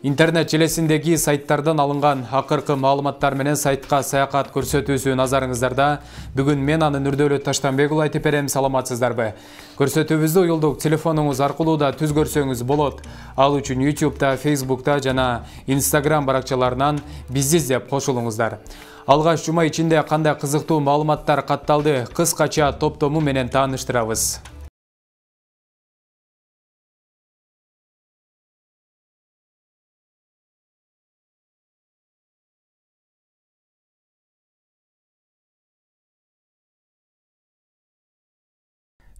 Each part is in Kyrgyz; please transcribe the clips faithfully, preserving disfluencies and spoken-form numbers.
Интернет желесиндеги сайттардан алынган акыркы маалыматтар менен сайтка саякат көрсөтүүсү назарыңыздарда. Бүгүн мен анын Үрдөлөт Таштанбек уулу айтып берем, саламатсыздарбы? Көрсөтүүбүздү уюлдук телефонуңуз аркылуу да түз көрсөңүз болот. Ал үчүн YouTube'да, Facebook'та жана Instagram баракчаларынан бизди издеп кошулуңуздар. Алгач жума ичинде кандай кызыктуу маалыматтар катталды, кыскача топтому менен тааныштырабыз.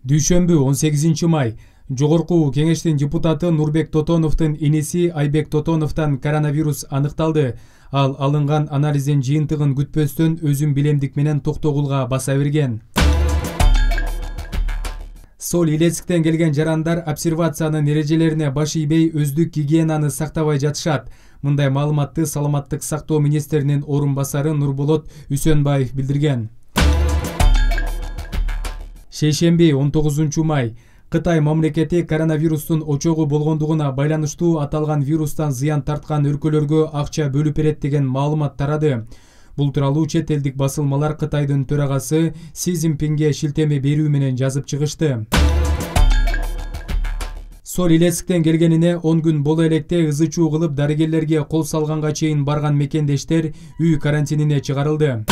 Дүйшөмбү он сегизинчи май Жогорку Кеңештин депутаты Нурбек Тотоновдун иниси Айбек Тотоновдон коронавирус аныкталды. Ал алынган анализдин жыйынтыгын күтпөстөн өзүн билемдик менен токтогулга баса берген. Сол Илецктен келген жарандар обсервациянын эрежелерине баш ийбей өздүк гигиенаны сактабай жатышат. Мындай маалыматты Саламаттык сактоо министринин орун басары Нурболот Үсөнбаев билдирген. Шейшемби он тогузунчу май Кытай мамлекети коронавирустун очогу болгондугуна байланыштуу аталган вирустан зыян тарткан өлкөлөргө акча бөлүп берет деген маалымат тарады. Бул тууралуу чет элдик басылмалар Кытайдын төрагасы Си Цзиньпинге шилтеме берүү менен жазып чыгышты. Сол Илецктен келгенине он күн боло электе ызы чуу кылып дарыгерлерге кол салганга чейин барган мекендештер үй карантинине чыгарылды.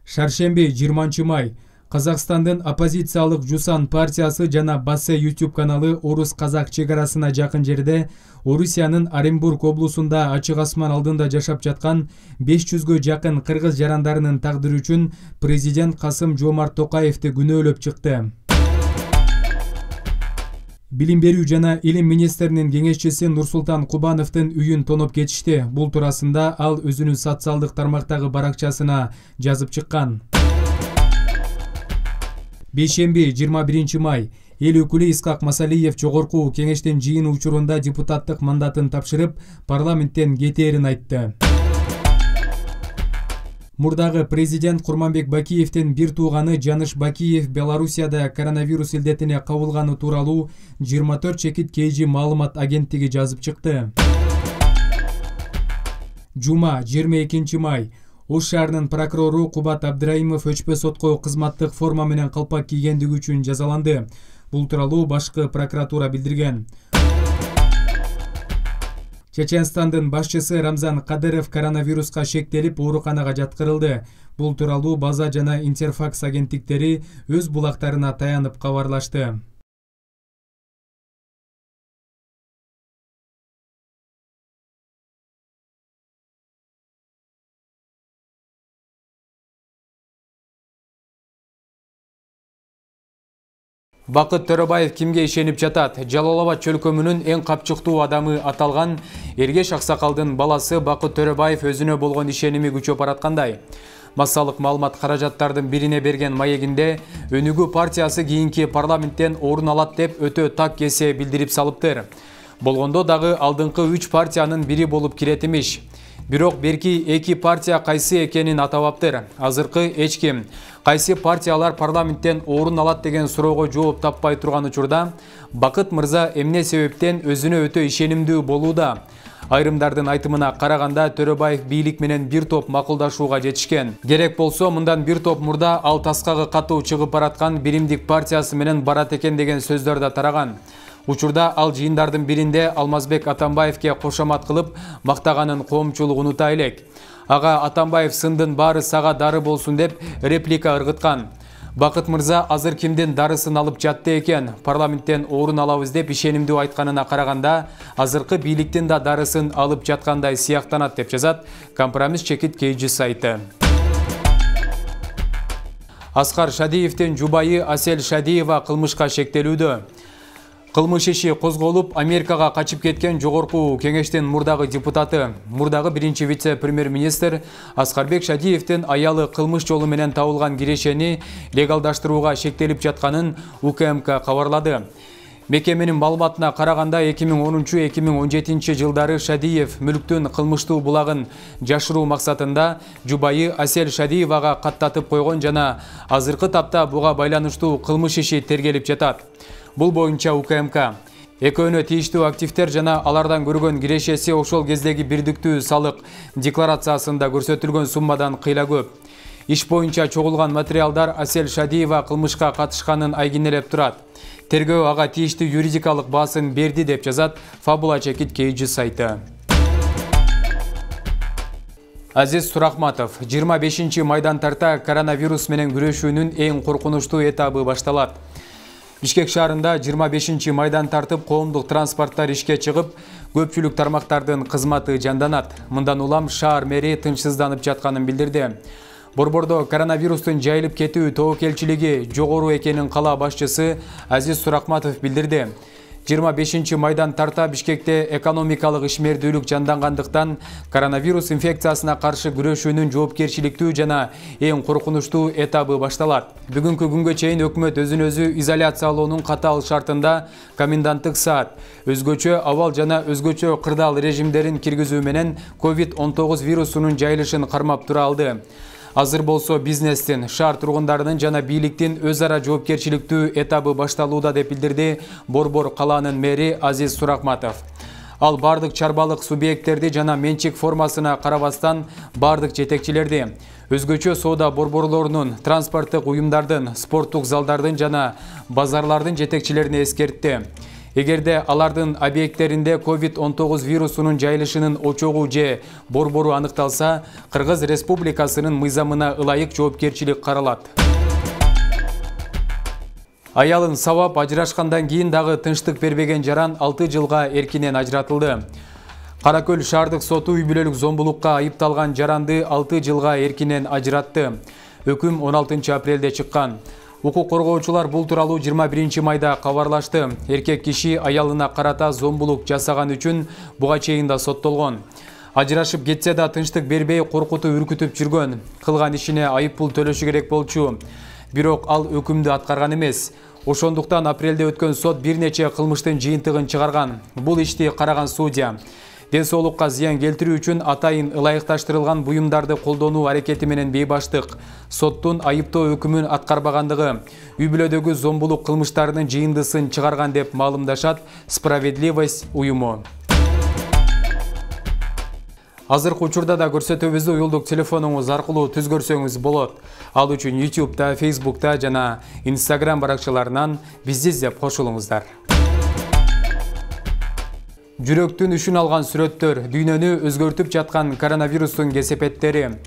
Шаршемби жыйырманчы май Казакстандын оппозициялык Жусан партиясы жана Бассе YouTube каналы Орус-Казак чегарасына жакын жерде Орусиянын Оренбург облусунда ачык асман алдында жашап жаткан беш жүзгө жакын кыргыз жарандарынын тагдыры үчүн президент Касым Жомарт Токаевди күнөөлөп чыкты. Билим берүү жана илим министринин кеңешчиси Нурсултан Кубановдун үйүн тоноп кетишти. Бул туурасында ал өзүнүн социалдык тармактагы баракчасына жазып чыккан. Бейшемби жыйырма биринчи май эл өкүлү Исхак Масалиев Жогорку Кеңештин жыйыны учурунда депутаттык мандатын тапшырып, парламенттен кетээрин айтты. Мурдагы президент Курманбек Бакиевдин бир тууганы Жаныш Бакиев Белоруссияда коронавирус илдетине кабылганы тууралуу жыйырма төрт чекит кейжи маалымат агенттиги жазып чыкты. Жума жыйырма экинчи май Ош шаарынын прокурору Кубат Абдраимов өчпө сотко кызматтык форма менен калпак кийгендиги үчүн жазаланды. Бул тууралуу башкы прокуратура билдирген. Чеченстандын башчысы Рамзан Кадыров коронавируска шектелип ооруканага жаткырылды. Бул тууралуу База жана Интерфакс агенттиктери өз булактарына таянып кабарлашты. Бакыт Төрөбаев кимге ишенип жатат? Жалал Абад чөлкөмүнүн эң капчыктуу адамы аталган Эргеш Аксакалдын баласы Бакыт Төрөбаев өзүнө болгон ишеними күчөп бараткандай. Массалык маалымат каражаттардын бирине берген маегинде Өнүгүү партиясы кийинки парламенттен орун алат деп өтө так кесе билдирип салыптыр. Болгондо дагы алдыңкы үч партиянын бири болуп кирет имиш. Бирок берки эки партия кайсы экенин атабаптыр. Азыркы эч ким кайсы партиялар парламенттен орун алат деген суроого жооп таппай турган учурда Бакыт мырза эмне себептен өзүнө өтө ишенимдүү болууда? Айрымдардын айтымына караганда Төрөбаев бийлик менен бир топ макулдашууга жетишкен. Керек болсо мындан бир топ мурда ал таскагы катуу чыгып бараткан Биримдик партиясы менен барат экен деген сөздөр да тараган. Учурда ал жыйындардын биринде Алмазбек Атамбаевке кошомат кылып мактаганын коомчулук унута элек. Ага Атамбаев сындын баары сага дары болсун деп реплика ыргыткан. Бакыт мырза азыр кимдин дарысын алып жатты экен? Парламенттен орун алабыз деп ишенимдүү айтканына караганда азыркы бийликтин да дарысын алып жаткандай сыяктанат деп жазат Компромисс чекит кейжи сайты. Аскар Шадиевдин жубайы Асель Шадиева кылмышка шектелүүдө. Кылмыш иши козголуп, Америкага качып кеткен Жогорку Кеңештин мурдагы депутаты, мурдагы биринчи вице-премьер-министр Аскарбек Шадиевдин аялы кылмыш жолу менен табылган кирешени легалдаштырууга шектелип жатканын У К М К кабарлады. Мекеменин маалыматына караганда эки миң онунчу — эки миң он жетинчи жылдары Шадиев мүлктүн кылмыштуу булагын жашыруу максатында жубайы Асель Шадиевага каттатып койгон жана азыркы тапта буга байланыштуу кылмыш иши тергелип жатат. Бул боюнча У К М К Экөөнө тийиштүү активдер жана алардан көргөн кирешеси ошол кездеги бирдиктүү салык декларациясында көрсөтүлгөн суммадан кыйла көп. Иш боюнча чогулган материалдар Асель Шадиева кылмышка катышканын айгинелеп турат. Тергөө ага тийиштүү юридикалык баасын берди деп жазат Фабула Чекит Кейджи сайты. Азиз Сурахматов, жыйырма бешинчи майдан тарта коронавирус менен күрөшүүнүн эң коркунучтуу этабы башталат. Бишкек шаарында жыйырма бешинчи майдан тартып, коомдук транспорттар ишке чыгып, көпчүлүк тармактардын кызматы жанданат. Мындан улам шаар мэри тынчсызданып жатканын билдирди. Борбордо коронавирустун жайылып кетүү тобокелчилиги жогору экенин кала башчысы Азиз Сурахматов билдирди. жыйырма бешинчи майдан тарта Бишкекте экономикалык ишмердүүлүк жандангандыктан коронавирус инфекциясына каршы күрөшүүнүн жоопкерчиликтүү жана эң коркунучтуу этабы башталат. Бүгүнкү күнгө чейин өкмөт өзүн өзү изоляциялоонун катаал шартында коменданттык саат, өзгөчө абал жана өзгөчө кырдаал режимдерин киргизүү менен ковид он тогуз вирусунун жайылышын кармап тура алды. Азыр болсо бизнестин, шаар тургундарынын жана бийликтин өз ара жоопкерчиликтүү этабы башталууда деп билдирди Борбор калаанын мэри Азиз Сурахматов. Ал бардык чарбалык субъекттерди жана менчик формасына карабастан бардык жетекчилерди, өзгөчө соода борборлорунун, транспорттук уюмдардын, спорттук залдардын жана базарлардын жетекчилерине эскертти. Эгерде алардын объекттеринде ковид он тогуз вирусунун жайылышынын очогу же борбору аныкталса, Кыргыз Республикасынын мыйзамына ылайык жоопкерчилик каралат. Аялын сабап ажырашкандан кийин дагы тынчтык бербеген жаран алты жылга эркинен ажыратылды. Каракөл шаардык соту үй бүлөлүк зомбулукка айыпталган жаранды алты жылга эркинен ажыратты. Өкүм он алтынчы апрелде чыккан. Укук коргоочулар бул тууралуу жыйырма биринчи майда кабарлашты. Эркек киши аялына карата зомбулук жасаган үчүн буга чейин да соттолгон. Ажырашып кетсе да тынчтык бербей коркутуп үркүтүп жүргөн. Кылган ишине айып пул төлөшү керек болчу. Бирок ал өкүмдү аткарган эмес. Ошондуктан апрелде өткөн сот бир нече кылмыштын жыйынтыгын чыгарган. Бул ишти караган судья ден соолукка зыян келтирүү үчүн атайын ылайыкташтырылган буюмдарды колдонуу аракети менен бейбаштык, соттун айыптоо өкүмүн аткарбагандыгы, үй бүлөдөгү зомбулук кылмыштарынын жыйындысын чыгарган деп маалымдашат Справедливость уюму. Азыркы учурда да көрсөтүүбүздү уюлдук телефонуңуз аркылуу түз көрсөңүз болот. Ал үчүн ютубта, фейсбукта жана инстаграм баракчаларынан бизди издеп кошулуңуздар. Жүрөктүн үшүн алган сүрөттөр, дүйнөнү өзгөртүп жаткан коронавирустун кесепеттери.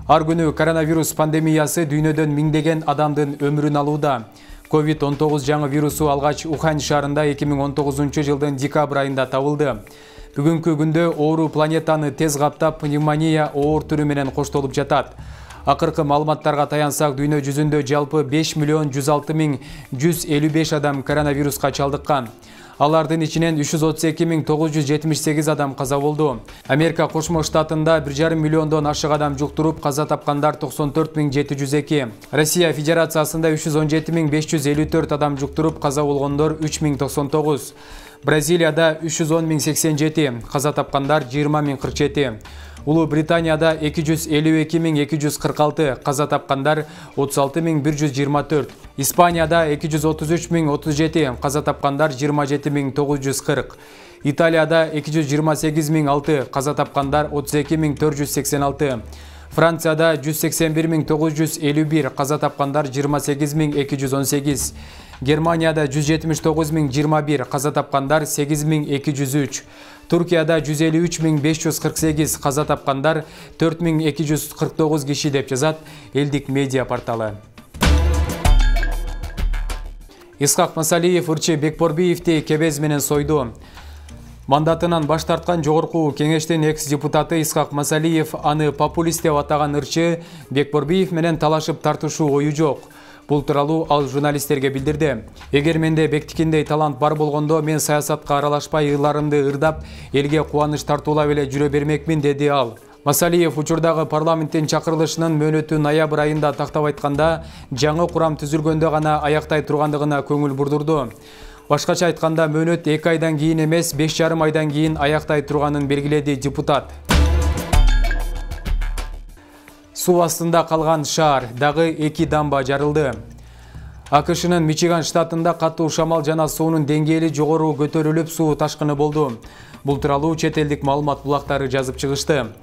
Ар күнү коронавирус пандемиясы дүйнөдөн миңдеген адамдын өмүрүн алууда. ковид он тогуз жаңы вирусу алгач Ухань шаарында эки миң он тогузунчу жылдын декабрь айында табылды. Бүгүнкү күндө оору планетаны тез каптап, пневмония оор түрү менен коштолуп жатат. Акыркы маалыматтарга таянсак, дүйнө жүзүндө жалпы беш миллион жүз алты миң жүз элүү беш адам коронавируска чалдыккан. Алардын ичинен үч жүз отуз эки миң тогуз жүз жетимиш сегиз адам каза болду. Америка Кошмо Штатында бир жарым миллиондон ашык адам жуктуруп, каза тапкандар токсон төрт миң жети жүз эки. Россия Федерациясында үч жүз он жети миң беш жүз элүү төрт адам жуктуруп, каза болгондор үч миң токсон тогуз. Бразилияда үч жүз он миң сексен жети, каза тапкандар жыйырма миң кырк жети. Улуу Британияда эки жүз элүү эки миң эки жүз кырк алты, каза тапкандар отуз алты миң бир жүз жыйырма төрт. Испанияда эки жүз отуз үч миң отуз жети, каза тапкандар жыйырма жети миң тогуз жүз кырк. Италияда эки жүз жыйырма сегиз миң алты, каза тапкандар отуз эки миң төрт жүз сексен алты. Францияда жүз сексен бир миң тогуз жүз элүү бир, каза тапкандар жыйырма сегиз миң эки жүз он сегиз. Германияда жүз жетимиш тогуз миң жыйырма бир, каза тапкандар сегиз миң эки жүз үч. Туркияда жүз элүү үч миң беш жүз кырк сегиз, каза тапкандар төрт миң эки жүз кырк тогуз киши деп жазат элдик медиа порталы. Исхак Масалиев ырчы Бекборбиевди кебез менен сойду. Мандатынан баш тарткан жогорку кеңештин экс-депутаты Исхак Масалиев аны популист деп атаган ырчы Бекборбиев менен талашып тартышуу ою жок. Бул тууралуу ал журналисттерге билдирди. Эгер менде Бектикиндей талант бар болгондо, мен саясатка аралашпай ыйларымды ырдап, элге кубаныч тартуулап эле жүрө бермекмин, деди ал. Масалиев учурдагы парламенттин чакырылышынын мөөнөтү ноябрь айында тактап айтканда, жаңы курам түзүлгөндө гана аяктай тургандыгына көңүл бурдурду. Башкача айтканда, мөөнөт эки айдан кийин эмес, беш жарым айдан кийин аяктай турганын белгиледи депутат. Суу астында калган шаар, дагы эки дамба жарылды. АКШнын Мичиган штатында катуу шамал жана суунун деңгээли жогору көтөрүлүп суу ташкыны болду. Бул тууралуу чет элдик маалымат булактары жазып чыгышты.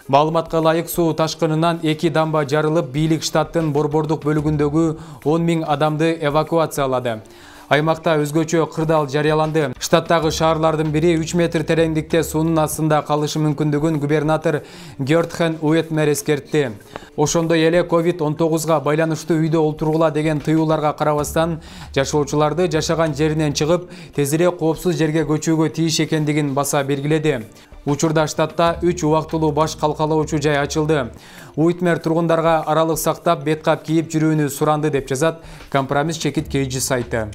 Маалыматка ылайык суу ташкынынан эки дамба жарылып, бийлик штаттын борбордук бөлүгүндөгү он миң адамды эвакуациялады. Аймакта өзгөчө кырдаал жарыяланды. Штаттагы шаарлардын бири үч метр тереңдикте суунун астында калышы мүмкүндүгүн губернатор Гёртхен Уэтмер эскертти. Ошондой эле ковид он тогузга байланыштуу үйдө олтургула деген тыюуларга карабастан, жашоочуларды жашаган жеринен чыгып, тезирээк коопсуз жерге көчүүгө тийиш экендигин баса белгиледи. Учурда штатта үч убактылуу баш калкалоочу жай ачылды. Уитмер тургундарга аралык сактап, бет кап кийип жүрүүнү суранды деп жазат Компромисс чекит кейжи сайты.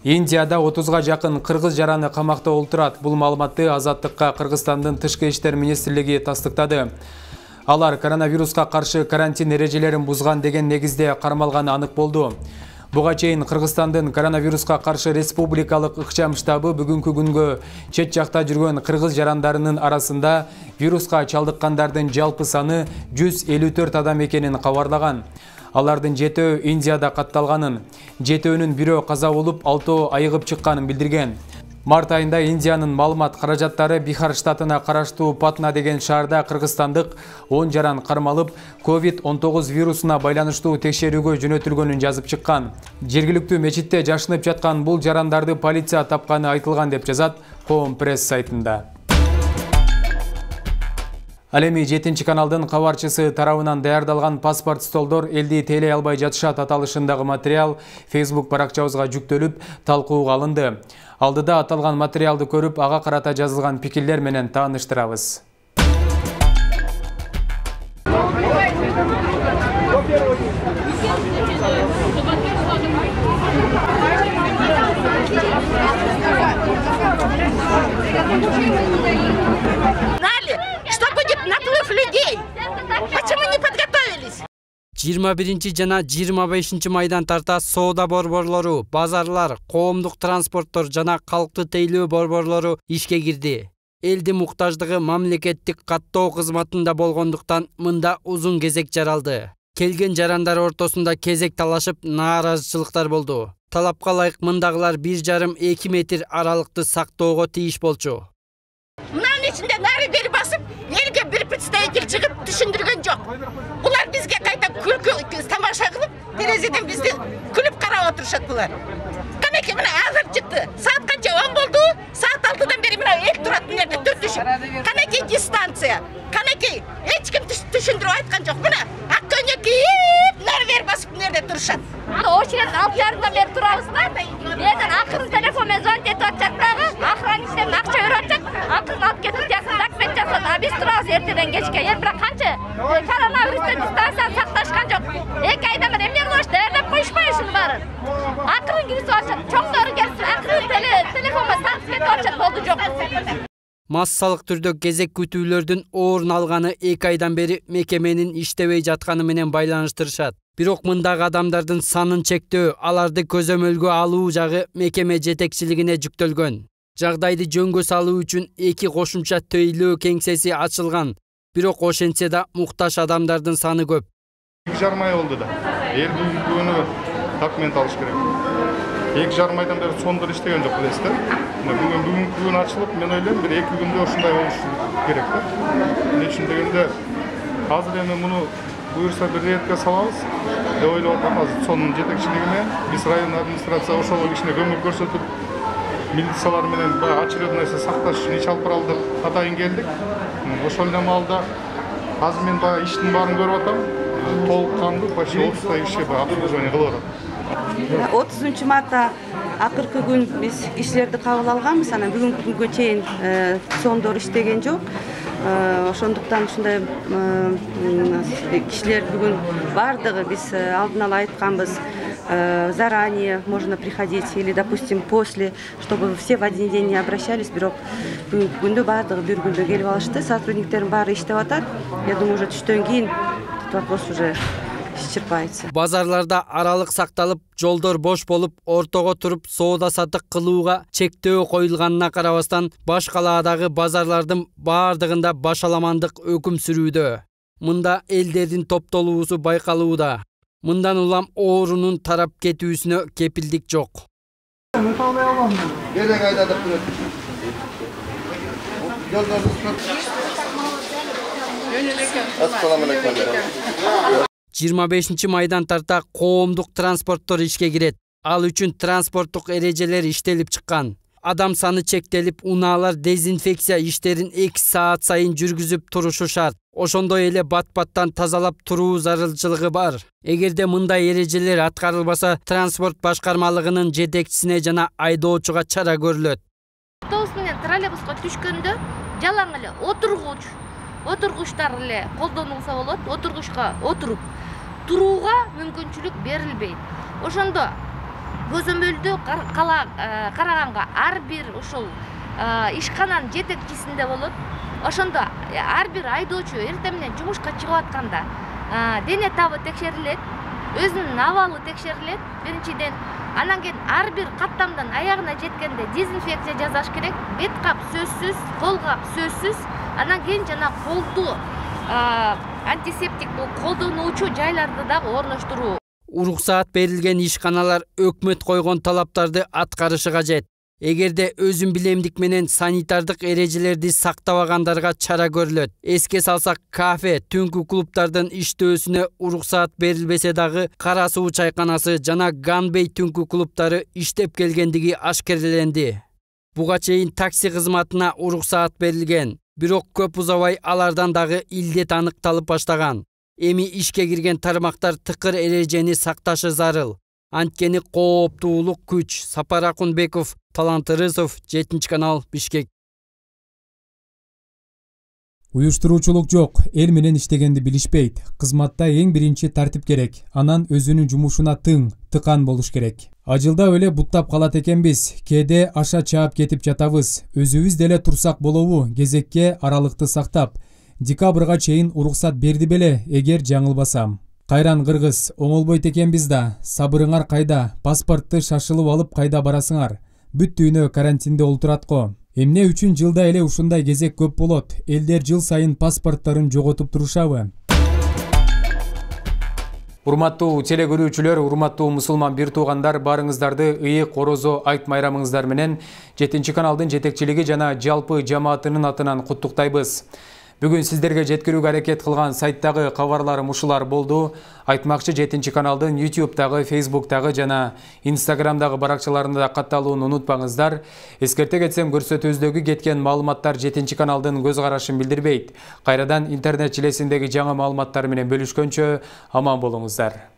Индияда отузга жакын кыргыз жараны камакта олтурат. Бул маалыматты Азаттыкка Кыргызстандын тышкы иштер министрлиги тастыктады. Алар коронавируска каршы карантин эрежелерин бузган деген негизде кармалганы анык болду. Буга чейин Кыргызстандын коронавируска каршы республикалык ыкчам штабы бүгүнкү күнгө чет жакта жүргөн кыргыз жарандарынын арасында вируска чалдыккандардын жалпы саны жүз элүү төрт адам экенин кабарлаган. Алардын жетөө Индияда катталганын, жетөөнүн бирөө каза болуп, алтоо айыгып чыкканын билдирген. Март айында Индиянын маалымат каражаттары Бихар штатына караштуу Патна деген шаарда кыргызстандык он жаран кармалып, ковид он тогуз вирусуна байланыштуу текшерүүгө жөнөтүлгөнүн жазып чыккан. Жергиликтүү мечитте жашынып жаткан бул жарандарды полиция тапканы айтылган деп жазат Коом пресс сайтында. Ал эми жетинчи каналдын кабарчысы тарабынан даярдалган паспорт столдор элди тейлей албай жатышат аталышындагы материал Facebook баракчабызга жүктөлүп, талкууга алынды. Алдыда аталган материалды көрүп, ага карата жазылган пикирлер менен тааныштырабыз. жыйырма биринчи жана жыйырма бешинчи майдан тарта соода борборлору, базарлар, коомдук транспорттор жана калкты тейлөө борборлору ишке кирди. Элдин муктаждыгы мамлекеттик каттоо кызматында болгондуктан мында узун кезек жаралды. Келген жарандар ортосунда кезек талашып, нааразычылыктар болду. Талапка ылайык мындагылар бир жарым эки метр аралыкты сактоого тийиш болчу. Мынанын ичинде нары бери басып, элге бир представитель чыгып түшүндүргөн жок. Булар бизге кайта күлкү тамаша кылып, терезеден бизди күлүп карап отурушат булар. Канеки мына азыр чыкты. Саат канча он болду? Саат алтыдан бери мына эк турат мына жерде төрт түшүп. Канеки дистанция. Канеки эч ким түшүндүрүп айткан жок. Мына ак көйнөк кийип, нары бери басып мына жерде турушат. Очеред алты жарымдан бери турабыз да. Менен акырын телефон менен звонить этип атышат дагы. Охранниктен акча берип атышат. Акырын алып кетип жакын документ жасап, а биз турабыз эртеден кечке. Эми бирок канча коронавирустан дистанцияны сакташкан жок. эки айдан бери эмне кылыш, даярдап коюшпайбы ушунун баарын? Акырын киргизип атышат. Чоңдору келип, акырын телефон менен танып кетип атышат, болду жок. Массалык түрдө кезек күтүүлөрдүн орун алганы эки айдан бери мекеменин иштебей жатканы менен байланыштырышат. Бирок мындагы адамдардын санын чектөө, аларды көзөмөлгө алуу жагы мекеме жетекчилигине жүктөлгөн. Жагдайды жөнгө салуу үчүн эки кошумча тейлөө кеңсеси ачылган. Бирок ошентсе да муктаж адамдардын саны көп. эки жарым ай болду да. Эл бүгүнкү документ алыш керек. эки жарым айдан бери сондур иштеген жок билесиз да. Бүгүн бүгүнкү күн ачылып, мен ойлойм бир эки күндө ушундай болуш керек да. Эмне үчүн дегенде азыр эми муну буюрса бир ретке салабыз деп ойлоп атам. Азыр сонун жетекчилигине биз район администрация ошого кичине көмөк көрсөтүп, милициялар менен баягы очередной сакташ үчүн иш алып баралы деп атайын келдик. Ошол эле маалда азыр мен баягы иштин баарын көрүп атам. Толук кандуу почти отуздай киши баягы обслуживание кылып атат. отузунчу мартта акыркы күн биз кишилерди кабыл алганбыз. Анан бүгүнкү күнгө чейин сондор иштеген жок. Ошондуктан ушундай кишилер бүгүн бардыгы биз алдын ала айтканбыз. Заранее можно приходить или, допустим, после, чтобы все в один день не обращались. Бирок бүгүнкү күндө бардыгы бир күндө келип алышты. Сотрудниктердин баары иштеп атат. Я думаю, уже түштөн кийин вопрос уже исчерпается. Базарларда аралык сакталып, жолдор бош болуп, ортого туруп соода сатык кылууга чектөө коюлганына карабастан, баш калаадагы базарлардын баардыгында башаламандык өкүм сүрүүдө. Мында элдердин топтолуусу байкалууда. Мындан улам оорунун тарап кетүүсүнө кепилдик жок. жыйырма бешинчи майдан тарта коомдук транспорттор ишке кирет. Ал үчүн транспорттук эрежелер иштелип чыккан. Адам саны чектелип, унаалар дезинфекция иштерин эки саат сайын жүргүзүп турушу шарт. Ошондой эле бат-баттан тазалап туруу зарылчылыгы бар. Эгерде мындай эрежелер аткарылбаса, транспорт башкармалыгынын жетекчисине жана айдоочуга чара көрүлөт. Автобус менен троллейбуска түшкөндө жалаң эле отургуч, отургучтар эле колдонулса болот. Отургучка отуруп турууга мүмкүнчүлүк берилбейт. Ошондо көзөмөлдө караганга ар бир ушул ишкананын жетекчисинде болот. Ошондо ар бир айдоочу эртең менен жумушка чыгып атканда дене табы текшерилет, өзүнүн абалы текшерилет биринчиден. Анан кийин ар бир каттамдан аягына жеткенде дезинфекция жасаш керек. Бет кап сөзсүз, кол кап сөзсүз. Анан кийин жана колду антисептик колдонуучу жайларды дагы орноштуруу. Уруксаат берилген ишканалар өкмөт койгон талаптарды аткарышы кажет. Эгерде өзүн билемдик менен санитардык эрежелерди сактабагандарга чара көрүлөт. Эске салсак, кафе, түнкү клубдардын иштөөсүнө уруксаат берилбесе дагы Кара суу чайканасы жана Ганбей түнкү клубдары иштеп келгендиги ашкереленди. Буга чейин такси кызматына уруксаат берилген, бирок көп узабай алардан дагы илдет аныкталып баштаган. Эми ишке кирген тармактар тыкыр эрежени сакташы зарыл. Анткени кооптуулук күч. Сапар Акунбеков, Талант Ырысов, жетинчи канал, Бишкек. Уюштуруучулук жок, эл менен иштегенди билишпейт. Кызматта эң биринчи тартип керек, анан өзүнүн жумушуна тың, тыкан болуш керек. Ажылдап эле буттап калат экенбиз, кээде аша чаап кетип жатабыз. Өзүбүз деле турсак болобу, кезекке аралыкты сактап. Декабрга чейин уруксат берди беле, эгер жаңылбасам. Кайран кыргыз, оңолбойт экенбиз да. Сабырыңар кайда? Паспортты шашылып алып кайда барасыңар? Бүт дүйнө карантинде олтурат го. Эмне үчүн жылда эле ушундай кезек көп болот? Элдер жыл сайын паспорттарын жоготуп турушабы? Урматтуу теле көрүүчүлөр, урматтуу мусулман бир туугандар, барыңыздарды ыйык орозо айт майрамыңыздар менен жетинчи каналдын жетекчилиги жана жалпы жамаатынын атынан куттуктайбыз. Бүгүн сиздерге жеткирүүгө аракет кылган сайттагы кабарларым ушулар болду. Айтмакчы жетинчи каналдын ютубтагы, фейсбуктагы жана инстаграмдагы баракчаларында катталууну унутпаңыздар. Эскерте кетсем, көрсөтүүбүздөгү кеткен маалыматтар жетинчи каналдын көз карашын билдирбейт. Кайрадан интернет желесиндеги жаңы маалыматтар менен бөлүшкөнчө аман болуңуздар.